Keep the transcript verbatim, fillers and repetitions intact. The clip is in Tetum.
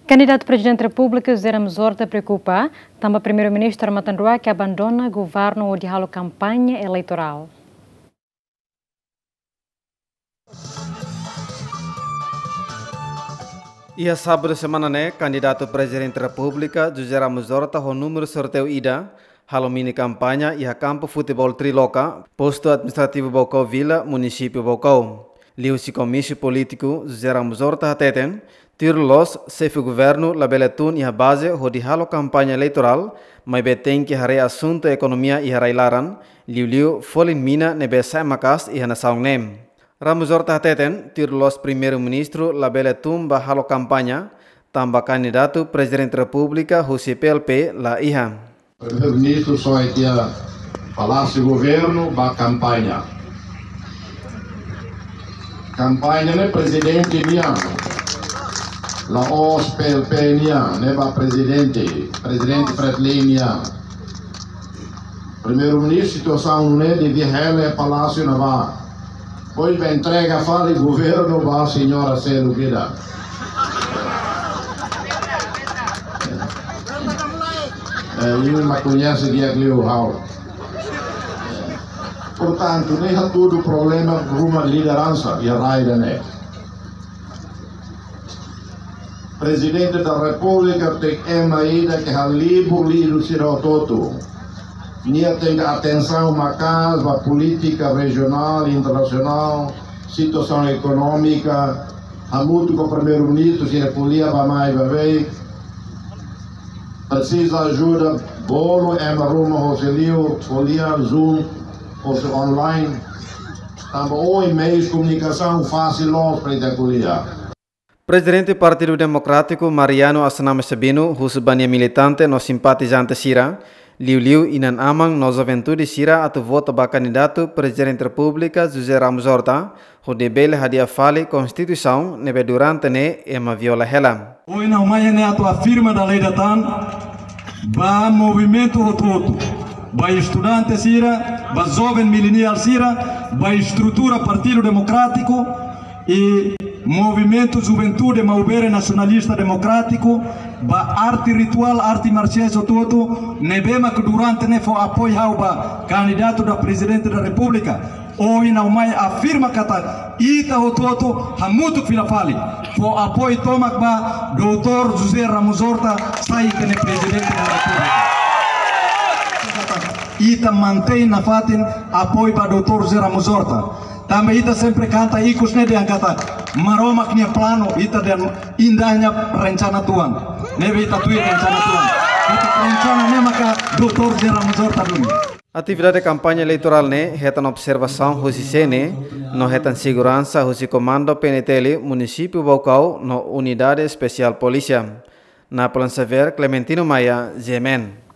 Kandidatu Prezidente Repúblika José Ramos Horta preokupa tanba Primeiru-Ministru Armatan Ruak abandona governu hodi halo kampaña eleitorál. Iha sábadu semana ne'e, kandidatu Prezidente Repúblika José Ramos Horta ho númeru sorteiu ida halo mini kampaña iha kampu futeból Triloka, postu administrativu Baucau Vila, munisípiu Baucau. Liuhusi komísiu polítiku, José Ramos Horta hateten, tuir loloos xefe governu labele tun iha baze hodi halo kampaña eleitorál, maibé tenke haree asuntu ekonomia iha rai-laran, liuliu folin mina ne'ebé sa'e maka'as iha nasaun ne'e. Ramos Horta hateten, tuir loloos Primeiru-Ministru labele tun ba halo kampaña, tanba kandidatu Prezidente Repúblika husi P L P la iha. Primeiru-Ministru só iha Palásiu Governu ba kampaña. Kampaña ne'e Prezidente nian. La'ós P L P nian, ne'e ba Prezidente, Prezidente Fretilin nian. Primeiru-Ministru, situasaun ne'e devia hela iha Palásiu ne'ebá. Depois ba entrega fali governu ba señora seluk ida. Eh, imi mak koñese di'ak liu ha'u. Portantu, ne'e hatudu problema ruma lideransa iha rai ida-ne'e. Prezidente da Repúblika tenke ema ida ke halibur liuliu sira hotu-hotu. Nia tenke atensaun maka'as ba polítika rejionál, internasionál, situasaun ekonómika, hamutuk ho Primeiru-Ministru sira ko'alia bá-mai bá-bek. Presiza ajuda bolu ema ruma hosi li'ur, ko'alia Zoom, hosi online. Tanba ohin meius komunikasaun fasil loos para ita ko'alia. Prezidente Partidu Demokrátiku Mariano Assanami Sabino husu ba nia militante no simpatizante sira, liuliu inan-aman no juventude sira atu vota ba kandidatu Prezidente Repúblika José Ramos Horta, hodi bele hadi'a fali Konstituisaun ne'ebé durante ne'e ema viola hela. Ohin ha'u mai ne'e atu afirma dala ida tan ba movimentu hotu-hotu, ba estudante sira, ba joven milenial sira, ba estrutura Partidu Demokrátiku, i movimentu juventude maubere nasionalista demokrátiku, ba arte rituál, arte marsiais hotu-hotu ne'ebé mak durante ne'e fó apoiu ha'u ba kandidatu da Prezidente da Repúblika. Ohin ha'u mai afirma katak ita hotu-hotu hamutuk fila fali fó apoiu tomak ba Doutór José Ramos Horta sai ita-nia Prezidente da Repúblika. Ita mantein nafatin apoiu ba Doutór José Ramos Horta. Tanba ita sempre kanta ikus ne'e dehan katak Maromak nia planu, ita dehan indahnya rencana Tuhan. Ne'ebé ita tuir rencana Tuhan. Ita rencana ne'e maka Doutór José Ramos Horta duni. Atividade kampaña eleitorál ne'e hetan observasaun husi C N E, no hetan seguransa husi Komandu P N T L Munisípiu Baucau no Unidade Espesiál Polísia. Napoleon Xavier, Clementino Maia, G M N.